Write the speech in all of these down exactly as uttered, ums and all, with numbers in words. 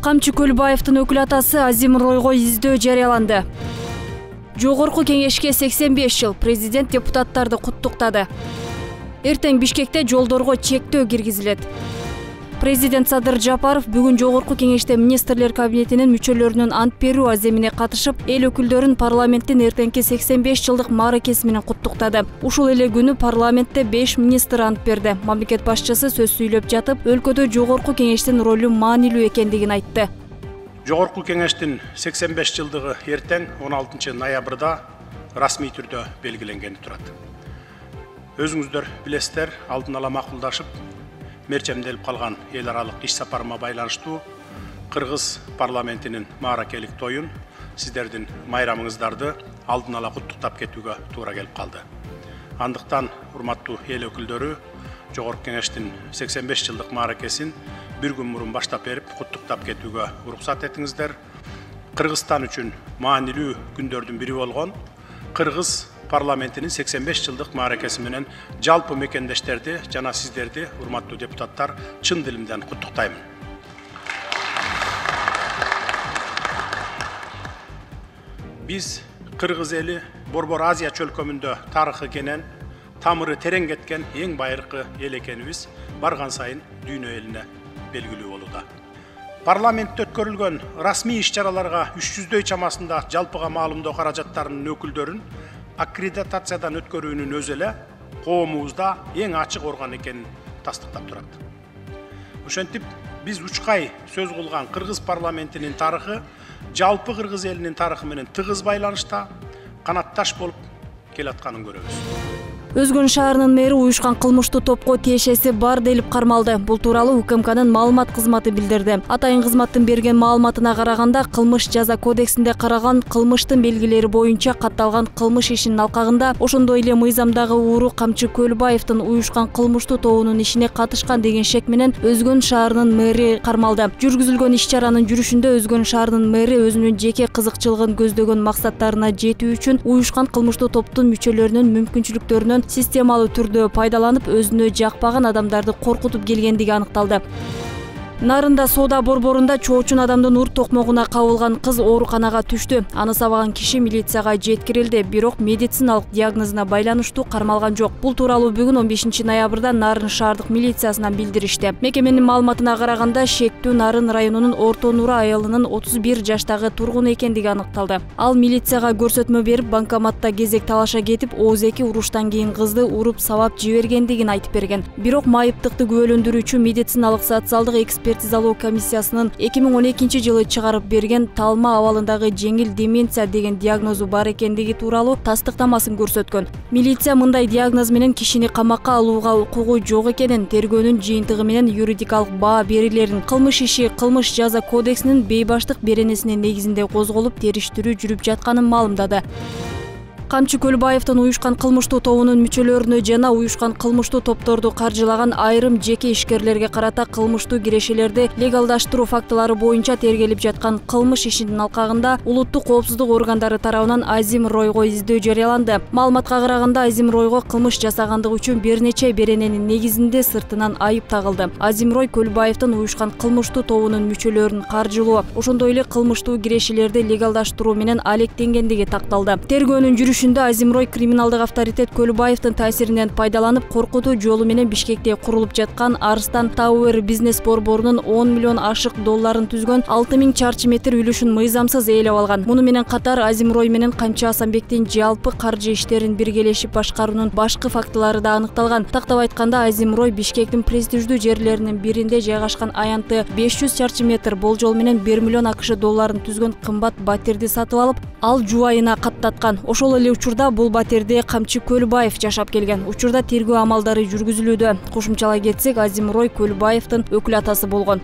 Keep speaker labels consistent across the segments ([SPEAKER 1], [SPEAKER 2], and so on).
[SPEAKER 1] Камчы Көлбаевдин өкүл атасы Азимройго издөө жарыяланды. Жогорку кеңешке сексен беш жыл, президент депутаттарды куттуктады. Эртең Бишкекте жолдорго чектөө киргизилет. Президент Садыр Жапаров бүгүн Жогорку кеңеште министрлер кабинетинин мүчөлөрүнүн ант берүү аземине катышып, эл өкүлдөрүн парламенттин эртеңки сексен беш жылдык мааракеси менен куттуктады. Ушул эле күнү парламентте беш министр ант берди. Мамлекет башчысы сөз сүйлөп жатып, өлкөдө Жогорку кеңештин ролу маанилүү экендигин айтты.
[SPEAKER 2] Жогорку кеңештин сексен беш жылдыгы эртең он алтынчы ноябрда расмий түрдө белгиленгени турат. Өзүңүздөр билесиздер, алдын ала макулдашып, мерчемделип калган эл аралык иш сапарыма байланыштуу Кыргыз парламентинин мааракелик тоюн, сиздердин майрамыңыздарды алдын ала куттуктап кетүүгө туура келип калды. Андыктан, урматтуу эл өкүлдөрү, Жогорку кеңештин сексен беш жылдык мааракесин бир күн мурун баштап берип, куттуктап кетүүгө уруксат этиңиздер. Кыргызстан үчүн маанилүү күндөрдүн бири болгон Кыргыз парламентинин сексен беш жылдык мааракеси менен жалпы мекендештерди жана сиздерди, урматтуу депутаттар, чын дилимден куттуктаймын. Биз Кыргыз эли Борбор Азия чөлкөмүндө тарыхы кенен, тамыры терең кеткен эң байыркы эл экенибиз барган сайын дүйнө элине белгилүү болууда. Парламентте өткөрүлгөн расмий иш-чараларга үч жүздөй чамасында жалпыга маалымдоо каражаттарынын өкүлдөрүн аккредитациядан өткөрүүнүн өзү эле коомубузда эң ачык орган экенин тастыктап турат. Ошентип, биз учкай сөз кылган Кыргыз парламентинин тарыхы жалпы Кыргыз элинин тарыхы менен тыгыз байланышта, канатташ болуп келатканын көрөбүз.
[SPEAKER 1] Өзгөн шаарынын мэри уюшкан кылмыштуу топко тиешеси бар делип кармалды. Бул тууралуу УКМКнын маалымат кызматы билдирди. Атайын кызматтын берген маалыматына караганда, кылмыш жаза кодексинде караган кылмыштын белгилери боюнча катталган кылмыш ишинин алкагында, ошондой эле мыйзамдагы ууру Камчы Көлбаевдин уюшкан кылмыштуу тобунун ишине катышкан деген шек менен Өзгөн шаарынын мэри кармалды. Жүргүзүлгөн иш-чаранын жүрүшүндө Өзгөн шаарынын мэри өзүнүн жеке кызыкчылыгын көздөгөн максаттарына жетүү үчүн уюшкан кылмыштуу топтун мүчөлөрүнүн мүмкүнчүлүктөрүнөн системалуу түрдө пайдаланып, өзүнө жакпаган адамдарды коркутуп келгендиги аныкталды. Нарында соода борборунда чоочун адамдын ур токмогуна кабылган кыз ооруканага түштү. Аны сабаган киши милицияга жеткирилди, бирок медициналык диагнозуна байланыштуу кармалган жок. Бул тууралуу бүгүн он бешинчи ноябрда Нарын шаардык милициясынан билдиришти. Мекеменин маалыматына караганда, шектүү Нарын районунун Орто Нура айылынын отуз бир жаштагы тургуну экендиги аныкталды. Ал милицияга көрсөтмө берип, банкоматта кезек талаша кетип, ооз-эки уруштан кийин кызды уруп сабап жибергендигин айтып берген. Бирок майыптыкты күбөлөндүрүүчү медициналык социалдык эксперт экспертизалоо комиссиясынын эки миң он экинчи жылы чыгарып берген талма абалындагы жеңил деменция деген диагнозу бар экендиги тууралуу тастыктамасын көрсөткөн. Милиция мындай диагноз менен кишини камакка алууга укугу жок экенин, тергөөнүн жыйынтыгы менен юридикалык баа берилерин, кылмыш иши кылмыш жаза кодексинин бейбаштык беренесинин негизинде козголуп, териштирүү жүрүп жатканын маалымдады. Камчы Көлбаевдин уюшкан кылмыштуу тобунун мүчөлөрүнө жана уюшкан кылмыштуу топторду каржылаган айрым жеке ишкерлерге карата кылмыштуу кирешелерди легалдаштыруу фактылары боюнча тергелип жаткан кылмыш ишинин алкагында улуттук коопсуздук органдары тарабынан Азимройго издөө жарыяланды. Маалыматка караганда, Азимройго кылмыш жасагандыгы үчүн бир нече берененин негизинде сыртынан айып тагылды. Азимрой Көлбаевдин уюшкан кылмыштуу тобунун мүчөлөрүн каржылоо, ошондой эле кылмыштуу кирешелерди легалдаштыруу менен алектенгендиги такталды. Тергөөнүн жүрүшүндө Азимрой криминалдык авторитет Көлбаевдин таасиринен пайдаланып, коркутуу жолу менен Бишкекте курулуп жаткан Арстан Тауэр бизнес борборунун он миллион ашык долларын түзгөн алты миң чарчы метр үлүшүн мыйзамсыз ээлеп алган. Муну менен катар Азимрой менен Камчы Асанбектин жалпы каржы иштерин биргелешип башкаруунун башкы фактылары да аныкталган. Тактап айтканда, Азимрой Бишкектин престиждүү жерлеринин биринде жайгашкан аянты беш жүз чарчы метр болжол менен бир миллион акш долларын түзгөн кымбат батирди сатып алып, ал жубайына каттаткан. Ошол эле учурда бул батирде Камчы Көлбаев жашап келген. Учурда тергөө амалдары жүргүзүлүүдө. Кошумчалай кетсек, Азимрой Көлбаевдин өкүл атасы болгон.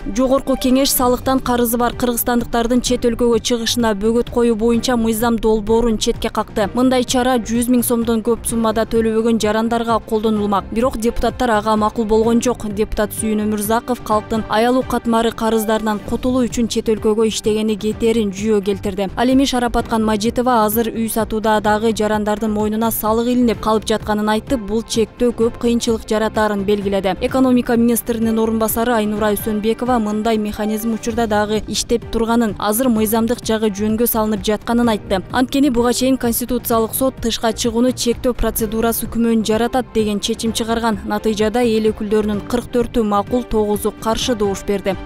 [SPEAKER 1] Жогорку кеңеш салыктан карызы бар кыргызстандыктардын чет өлкөгө чыгышына бөгөт коюу боюнча мыйзам долбоорун четке какты. Мындай чара жүз миң сомдон көп суммада төлөбөгөн жарандарга колдонулмак. Бирок депутаттар ага макул болгон жок. Депутат Сүйүн Өмүрзаков калктын аялуу катмары карыздарынан кутулуу үчүн чет өлкөгө иштегени кетерин жүйө келтирди. Ал эми Шарапаткан Мажитова азыр үй сатууда дагы жарандардын мойнуна салык илинип калып жатканын айтып, бул чектөө көп кыйынчылык жаратаарын белгиледи. Экономика министринин орун басары Айнура Үсөнбекова Исмаилова мындай механизм учурда дагы иштеп турганын, азыр мыйзамдык жагы жөнгө салынып жатканын айтты. Анткени буга чейин Конституциялык сот тышка чыгууну чектөө процедурасы күмөн жаратат деген чечим чыгарган. Натыйжада эл өкүлдөрүнүн кырк төртү макул, тогузу каршы добуш берди.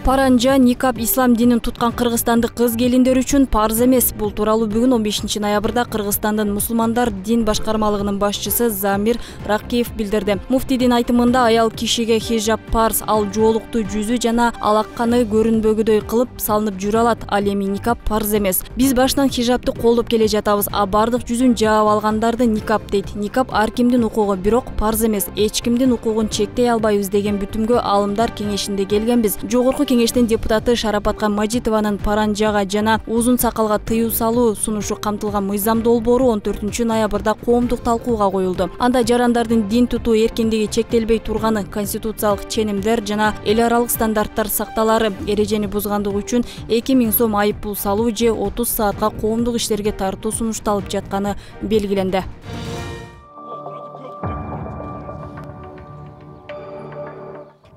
[SPEAKER 1] Паранжа, никап ислам динин туткан кыргызстандык кыз келиндер үчүн парз эмес. Бул тууралуу бүгүн он бешинчи ноябрда Кыргызстандын мусулмандар дин башкармалыгынын башчысы Замир Ракиев билдирди. Муфтийдин айтымында аял кишиге хижаб парз, ал жоолукту жүзү жана алакканы көрүнбөгүдөй кылып салынып жүрө алат. Ал эми никап парз эмес. Биз башынан хижабты колдоп келе жатабыз, а бардык жүзүн жаап алгандарды никап дейт. Никап ар кимдин укугу, бирок парз эмес. Эч кимдин укугун чектей албайбыз деген бүтүмгө Аалымдар кеңешинде келгенбиз. Жогорку кеңештин депутаты Шарапатка Мажитованын паранжага жана узун сакалга тыюу салуу сунушу камтылган мыйзам долбоору он төртүнчү ноябрда коомдук талкууга коюлду. Анда жарандардын дин тутуу эркиндиги чектелбей турганы, конституциялык ченемдер жана эл аралык стандарттар сакталары, эрежени бузгандык үчүн эки миң сом айып пул салуу же отуз саатка коомдук иштерге тартуу сунушталып жатканы белгиленди.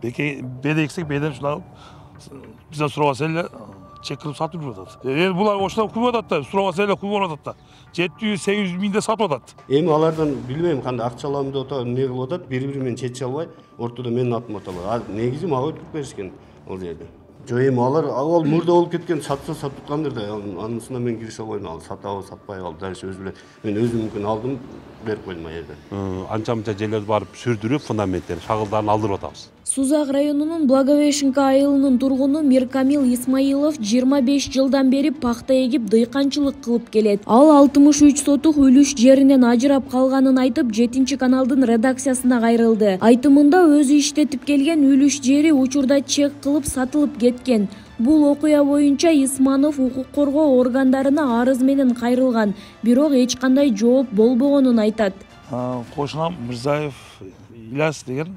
[SPEAKER 3] Бедексек беден шулап бизден сурабаса эле чек кылып сатып жүрүп атат. Эми булар ошондо күйүп атат да, сурабаса эле күйүп атат да. жети жүз сегиз жүз миңде сатып атат.
[SPEAKER 4] Эми алардан билбейм кандай акча алам деп атат, эмне кылып атат, бири-бири менен чече албай, ортодо менин атым аталат. А негизи мага өтүп беришкен ал жерде. Жо эми алар ал мурда болуп кеткен, сатса сатып аткандыр да, анысына мен кирише албайм, ал сатабы сатпай калды, дальше өзү эле мен өзүм мүмкүн алдым, берип койдум ал жерде.
[SPEAKER 5] Анча-мынча жерлерди барып сүрдүрүп, фундаменттерин, шагылдарын алдырып атабыз.
[SPEAKER 6] Сузак районунун Благовещенка айылынын тургуну Миркамил Исмаилов жыйырма беш жылдан бери пахта эгип дыйканчылык кылып келет. Ал алтымыш үч сотук үлүш жеринен ажырап калганын айтып, жетинчи каналдын редакциясына кайрылды. Айтымында өзү иштетип келген үлүш жери учурда чек кылып сатылып кеткен. Бул окуя боюнча Исманов укук коргоо органдарына арыз менен кайрылган, бирок эч кандай жооп болбогонун айтат.
[SPEAKER 3] Кошунам Мырзаев Иляс деген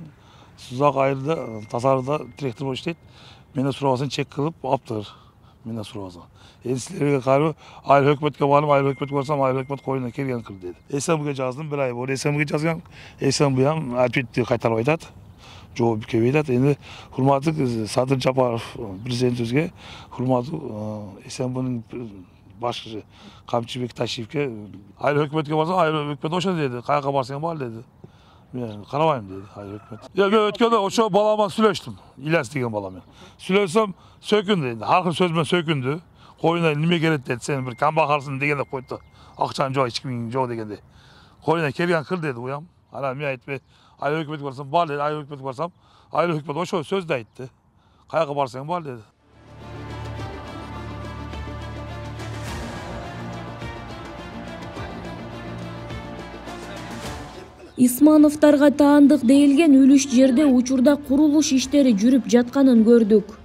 [SPEAKER 3] Сузак айылда тазарда директор болуп иштейт. Менден сурабасын чек кылып алыптыр. Менден сурабасын. Эми силерге кайрып, айыл өкмөткө барып, айыл өкмөткө барсам, айыл өкмөт коюна келген кыл деди. СМге жаздым, бир ай болду. СМге жазгам, СМ буям ответти кайтарып айтат. Жооп келбей атат. Эми урматтуу Садыр Жапаров президентибизге, урматтуу СМнын башчысы Камчыбек Ташиевке айыл өкмөткө барсам, айыл өкмөт ошо деди. Каяка барсаң бар деди. Мен карабайм деди айыл өкмөт. Я мен өткөндө ошо балама сүйлөштүм. Иляс деген баламен. Сүйлөсөм, сөкүндү деди. Аркы сөз менен сөкүндү. Коюна неме керет деди, сен бир камбакалсың дегенде койду. Акчаң жок, эч кимиң жок дегенде. Коюна келген кыл деди уям. Анан мен айтып, айыл өкмөткө барсам бар деди, айыл өкмөткө барсам, айыл өкмөт ошо сөздү айтты. Каяка барсаң бар деди.
[SPEAKER 6] Исмановтарга таандык дейилген үлүш жерде учурда курулуш иштери жүрүп жатканын көрдүк.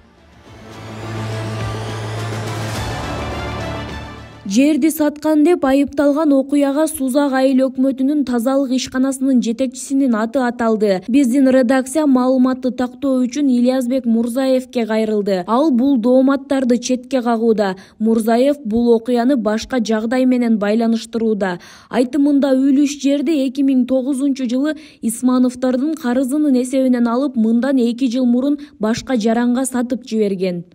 [SPEAKER 6] Жерди саткан деп айыпталган окуяга Сузак айыл өкмөтүнүн тазалык ишканасынын жетекчисинин аты аталды. Биздин редакция маалыматты тактоо үчүн Ильязбек Мурзаевке кайрылды. Ал бул дооматтарды четке кагууда. Мурзаев бул окуяны башка жагдай менен байланыштырууда. Айтымында үлүш жерди эки миң тогузунчу жылы Исмановдордун карызынын эсебинен алып, мындан эки жыл мурун башка жаранга сатып жиберген.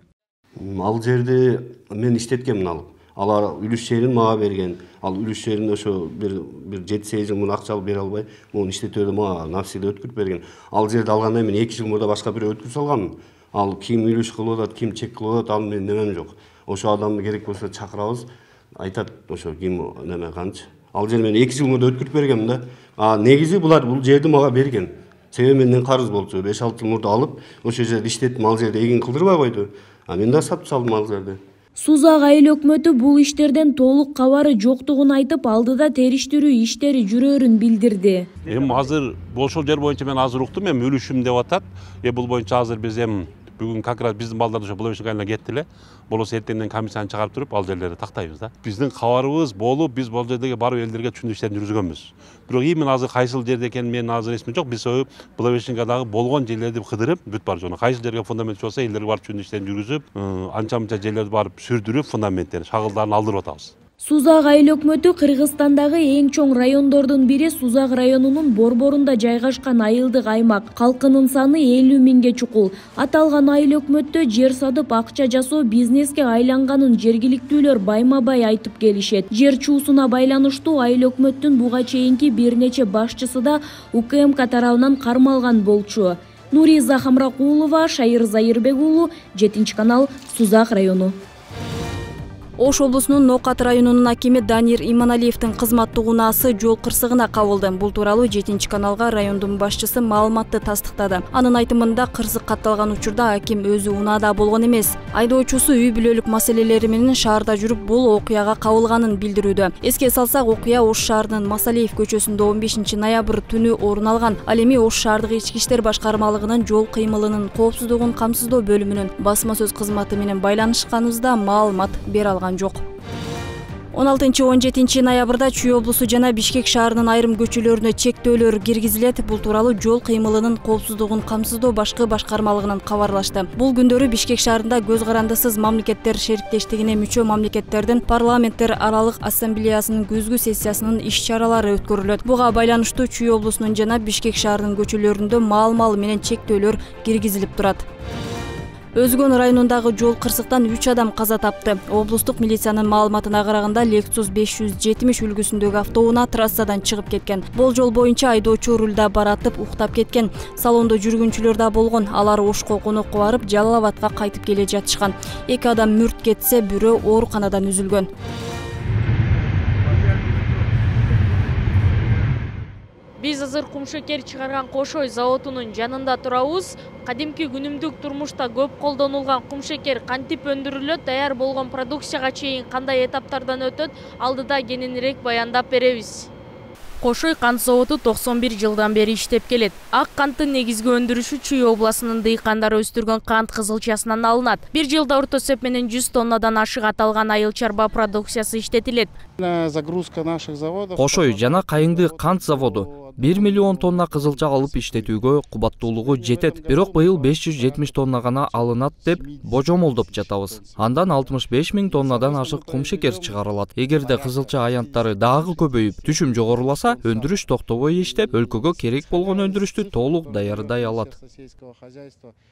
[SPEAKER 4] Ал жерди мен иштеткемин алып. Алар үлүш жерин мага берген. Ал үлүш жерин ошо бир бир жети сегиз жыл мурун акча алып бере албай, муну иштетүүдө мага навсегда өткөрүп берген. Ал жерди алгандан мен эки жыл мурда башка бирөө өткөрүп салганмын. Ал ким үлүш кылып атат, ким чек кылып атат, ал менин немем жок. Ошо адамды керек болсо чакырабыз, айтат ошо ким неме канчы. Ал жер мен эки жыл мурда өткөрүп бергенмин да. А негизи булар бул жерди мага берген. Себеби менден карыз болчу. беш алты жыл мурда алып, ошо жерде иштеттим, ал жерде эгин кылдырбай койду. А мен да сатып салдым ал жерди.
[SPEAKER 6] Сузак айыл өкмөтү бул иштерден толук кабары жоктугун айтып, алдыда териштирүү иштери жүрөрүн билдирди.
[SPEAKER 5] Эми азыр ошол жер боюнча мен азыр уктум, эми үлүшүм деп атат. Э бул боюнча азыр биз эми бүгүн как раз биздин балдар ошо Благовещенка айылына кетти эле. Болосо эртеңден комиссияны чыгарып туруп, ал жерлерди тактайбыз да. Биздин кабарыбыз болуп, биз бул жердеги барып элдерге түшүндүрүү иштерин жүргүзгөнбүз. Бирок именно азыр кайсыл жерде экенин мен азыр эсимде жок. Биз Благовещенкадагы болгон жерлерди кыдырып, бүт бар жона кайсыл жерге фундамент болсо, элдерге барып түшүндүрүү иштерин жүргүзүп, анча-мынча жерлерди барып сүрдүрүп, фундаменттерин, шагылдарын алдырып атабыз.
[SPEAKER 6] Сузак айыл өкмөтү Кыргызстандагы эң чоң райондордун бири Сузак районунун борборунда жайгашкан айылдык аймак. Калкынын саны элүү миңге чукул. Аталган айыл өкмөттө жер сатып акча жасоо бизнеске айланганын жергиликтүүлөр байма-бай айтып келишет. Жер чуусуна байланыштуу айыл өкмөттүн буга чейинки бир нече башчысы да УКМК тарабынан кармалган болчу. Нуриза Хамракулова, Шайыр Зайырбек уулу, жетинчи канал, Сузак району.
[SPEAKER 1] Ош облусунун Нокат районунун акими Данир Иманалиевдин кызматтык унаасы жол кырсыгына кабылды. Бул тууралуу жетинчи каналга райондун башчысы маалыматты тастыктады. Анын айтымында кырсык катталган учурда аким өзү унаада болгон эмес. Айдоочусу үй бүлөлүк маселелери менен шаарда жүрүп бул окуяга кабылганын билдирүүдө. Эске салсак, окуя Ош шаарынын Масалиев көчөсүндө он бешинчи ноябрь түнү орун алган. Ал эми Ош шаардык ички иштер башкармалыгынын жол кыймылынын коопсуздугун камсыздоо бөлүмүнүн басма сөз кызматы менен байланышканыбызда маалымат бере алган жок. он алтынчы он жетинчи ноябрда Чүй облусу жана Бишкек шаарынын айрым көчөлөрүнө чектөөлөр киргизилет. Бул тууралуу жол кыймылынын коопсуздугун камсыздоо башкы башкармалыгынан кабарлашты. Бул күндөрү Бишкек шаарында көз карандысыз мамлекеттер шериктештигине мүчө мамлекеттердин парламенттер аралык ассамблеясынын күзгү сессиясынын иш-чаралары өткөрүлөт. Буга байланыштуу Чүй облусунун жана Бишкек шаарынын көчөлөрүндө маал-мал менен чектөөлөр киргизилип турат. Өзгөн районундагы жол кырсыктан үч адам каза тапты. Облустук милициянын маалыматына караганда Lexus беш жүз жетимиш үлгүсүндөгү автоунаа трассадан чыгып кеткен. Болжол боюнча айдоочу рулда баратып уктап кеткен. Салондо жүргүнчүлөр да болгон. Алар Ошко конокко барып, Жалал Абадка кайтып келе жатышкан. Эки адам мүрт кетсе, бирөө ооруканадан үзүлгөн.
[SPEAKER 7] Биз азыр кумшекер чыгарган Кошой заводунун жанында турабыз. Кадимки күнүмдүк турмушта көп колдонулган кумшекер кантип өндүрүлөт, даяр болгон продукцияга чейин кандай этаптардан өтөт, алдыда кененирээк баяндап беребиз. Кошой кант заводу токсон бир жылдан бери иштеп келет. Ак канттын негизги өндүрүшү Чүй областынын дыйкандары өстүргөн кант кызылчасынан алынат. Бир жылда орто эсеп менен жүз тоннадан ашык аталган айыл чарба продукциясы иштетилет.
[SPEAKER 8] Загрузка наших заводов.
[SPEAKER 9] Кошой жана Кайыңды кант заводу бир миллион тонна кызылча алып иштетүүгө кубаттуулугу жетет. Бирок быйыл беш жүз жетимиш тонна гана алынат деп божомолдоп жатабыз. Андан алтымыш беш миң тоннадан ашык кумшекер чыгарылат. Эгерде кызылча аянттары дагы көбөйүп, түшүм жогоруласа, өндүрүш токтобой иштеп, өлкөгө керек болгон өндүрүштү толук даярдай алат.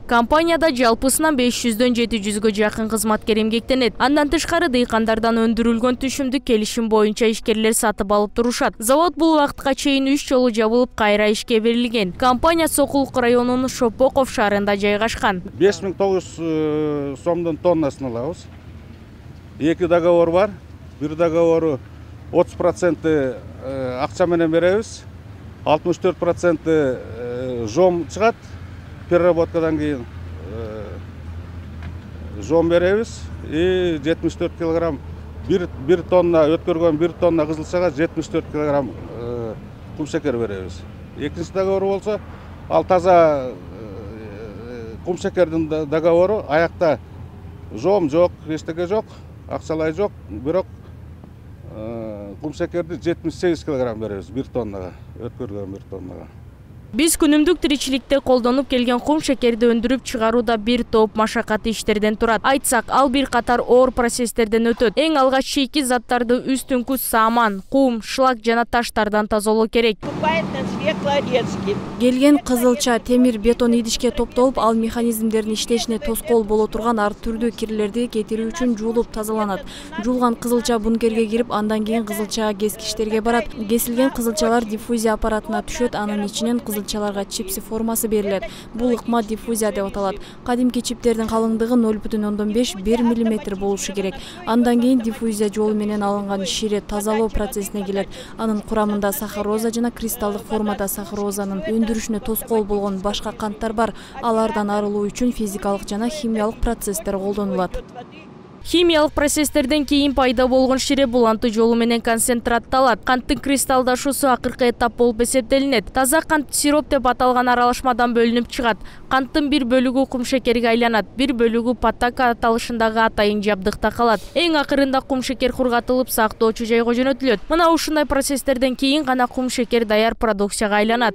[SPEAKER 7] Компанияда жалпысынан беш жүздөн жети жүзгө жакын кызматкер эмгектенет. Андан тышкары дыйкандардан өндүрүлгөн түшүмдү келишим боюнча ишкерлер сатып алып турушат. Завод бул убакытка чейин үч жолу жабылып кайра ишке берилген. Компания Сокулук районунун Шопоков шаарында жайгашкан.
[SPEAKER 8] беш миң тогуз жүз сомдон тоннасын алабыз. Эки договор бар. Бир договору отуз проценти акча менен беребиз. алтымыш төрт проценти жом чыгат. Переработкадан кийин жом беребиз. И жетимиш төрт килограмм бир бир тонна өткөргөн бир тонна кызылчага жетимиш төрт килограмм кумшекер беребиз. Экинчи договор болсо, ал таза кумшекердин договору, аякта жом жок, эчтеке жок, акчалай жок, бирок кумшекерди жетимиш сегиз килограмм беребиз бир тоннага, өткөргөн бир тоннага.
[SPEAKER 7] Биз күнүмдүк тиричиликте колдонуп келген кум шекерди өндүрүп чыгарууда бир топ машакаттуу иштерден турат. Айтсак, ал бир катар оор процесстерден өтөт. Эң алгач чийки заттарды үстүңкү саман, кум, шлак жана таштардан тазалоо керек.
[SPEAKER 1] Келген кызылча, темир, бетон идишке топтолуп, ал механизмдердин иштешине тоскоол боло турган ар түрдүү кирлерди кетирүү үчүн жуулуп тазаланат. Жуулган кызылча бункерге кирип, андан кийин кызылча кескичтерге барат. Кесилген кызылчалар диффузия аппаратына түшөт, анын ичинен кызылчаларга чипси формасы берилет. Бул ыкма диффузия деп аталат. Кадимки чиптердин калыңдыгы ноль бүтүн ондон беш — бир миллиметр болушу керек. Андан кийин диффузия жолу менен алынган шире тазалоо процессине келет. Анын курамында сахароза жана кристалдык формада сахарозанын өндүрүшүнө тоскоол болгон башка канттар бар. Алардан арылуу үчүн физикалык жана химиялык процесстер колдонулат.
[SPEAKER 7] Химиялык процесстерден кийин пайда болгон шире буланты жолу менен концентратталат. Канттын кристалдашуусу акыркы этап болуп эсептелинет. Таза кант сироп деп аталган аралашмадан бөлүнүп чыгат. Канттын бир бөлүгү кум шекерге айланат, бир бөлүгү паттака аталышындагы атайын жабдыкта калат. Эң акырында кум шекер кургатылып сактоочу жайга жөнөтүлөт. Мына ушундай процесстерден кийин гана кум шекер даяр продукцияга айланат.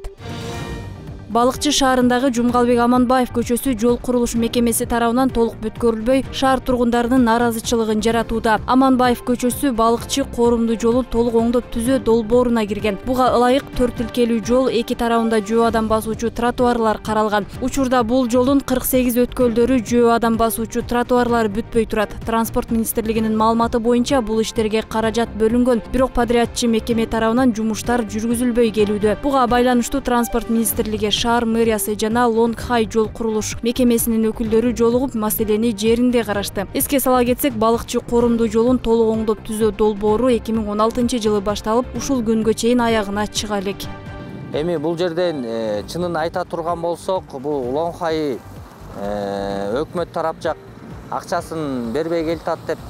[SPEAKER 1] Балыкчы шаарындагы Жумгалбек Аманбаев көчөсү жол курулуш мекемеси тарабынан толук бүткөрүлбөй, шаар тургундарынын нааразычылыгын жаратууда. Аманбаев көчөсү Балыкчы коорумдуу жолу толук оңдоп түзөө долбооруна кирген. Буга ылайык төрт тилкелүү жол, эки тарабында жөө адам басуучу тротуарлар каралган. Учурда бул жолдун кырк сегиз өткөлдөрү жөө адам басуучу тротуарлары бүтпөй турат. Транспорт министрлигинин маалыматы боюнча бул иштерге каражат бөлүнгөн, бирок подрядчы мекеме тарабынан жумуштар жүргүзүлбөй келүүдө. Буга байланыштуу транспорт министрлиги, шаар мэриясы жана Лонгхай жол курулуш мекемесинин өкүлдөрү жолугуп, маселени жеринде карашты. Эске сала кетсек, Балыкчы коорумдуу жолун толук оңдоп түзөө долбоору эки миң он алтынчы жылы башталып, ушул күнгө чейин аягына чыга элек.
[SPEAKER 10] Эми бул жерден чынын айта турган болсок, бул Лонгхай өкмөт тарап жак акчасын бербей келатат деп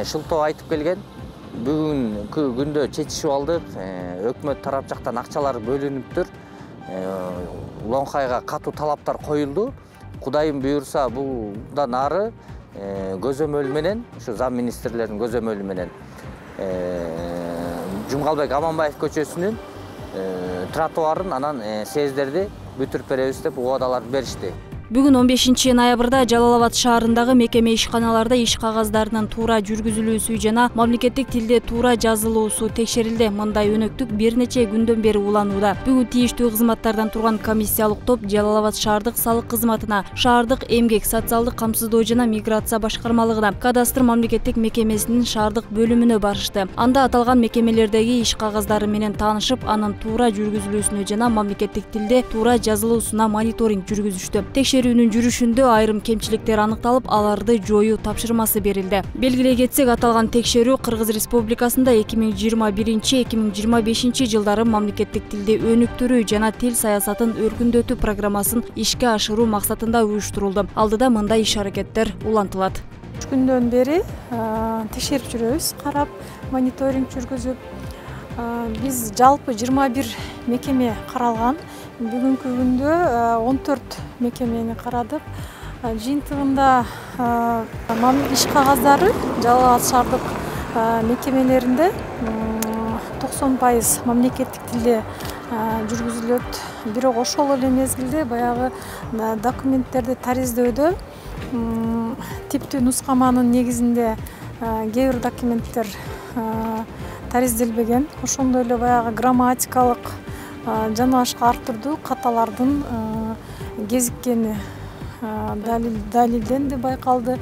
[SPEAKER 10] шылтоо айтып келген. Бүгүнкү күндө чечишип алдык. Өкмөт тарап жактан акчалар бөлүнүптүр. Лонгхайга катуу талаптар коюлду. Кудайым буйрса, булдан ары көзөмөл менен, ушу зам министрлердин көзөмөлү менен Жумгалбек Аманбаев көчөсүнүн тротуарын, анан сездерди бүтүрүп беребиз деп убадалар беришти.
[SPEAKER 1] Бүгүн он бешинчи ноябрда Жалал Абад шаарындагы мекеме ишканаларда иш кагаздарынын туура жүргүзүлүүсү жана мамлекеттик тилде туура жазылуусу текшерилди. Мындай өнөктүк бир нече күндөн бери уланууда. Бүгүн тийиштүү кызматтардан турган комиссиялык топ Жалал Абад шаардык салык кызматына, шаардык эмгек, социалдык камсыздоо жана миграция башкармалыгына, кадастр мамлекеттик мекемесинин шаардык бөлүмүнө барышты. Анда аталган мекемелердеги иш кагаздары менен таанышып, анын туура жүргүзүлүүсүнө жана мамлекеттик тилде туура жазылуусуна мониторинг жүргүзүштү. Текшерүүнүн жүрүшүндө айрым кемчиликтер аныкталып, аларды жоюу тапшырмасы берилди. Белгилей кетсек, аталган текшерүү Кыргыз Республикасында эки миң жыйырма биринчи эки миң жыйырма бешинчи жылдары мамлекеттик тилде өнүктүрүү жана тил саясатын өркүндөтүү программасын ишке ашыруу максатында уюштурулду. Алдыда мындай иш-аракеттер улантылат.
[SPEAKER 11] үч күндөн бери текшерип жүрөбүз, карап, мониторинг жүргүзүп. Биз жалпы жыйырма бир мекеме каралган. Бүгүнкү күндө он төрт мекемени карадык. Жыйынтыгында иш кагаздары Жалал Абад шаардык мекемелеринде токсон пайыз мамлекеттик тилде жүргүзүлөт. Бирок ошол эле мезгилде баягы документтерди тариздөөдө типтүү нускаманын негизинде кээ бир документтер таризделбеген. Ошондой эле баягы грамматикалык жана башка ар түрдүү каталардын кезиккени далилденди, байкалды.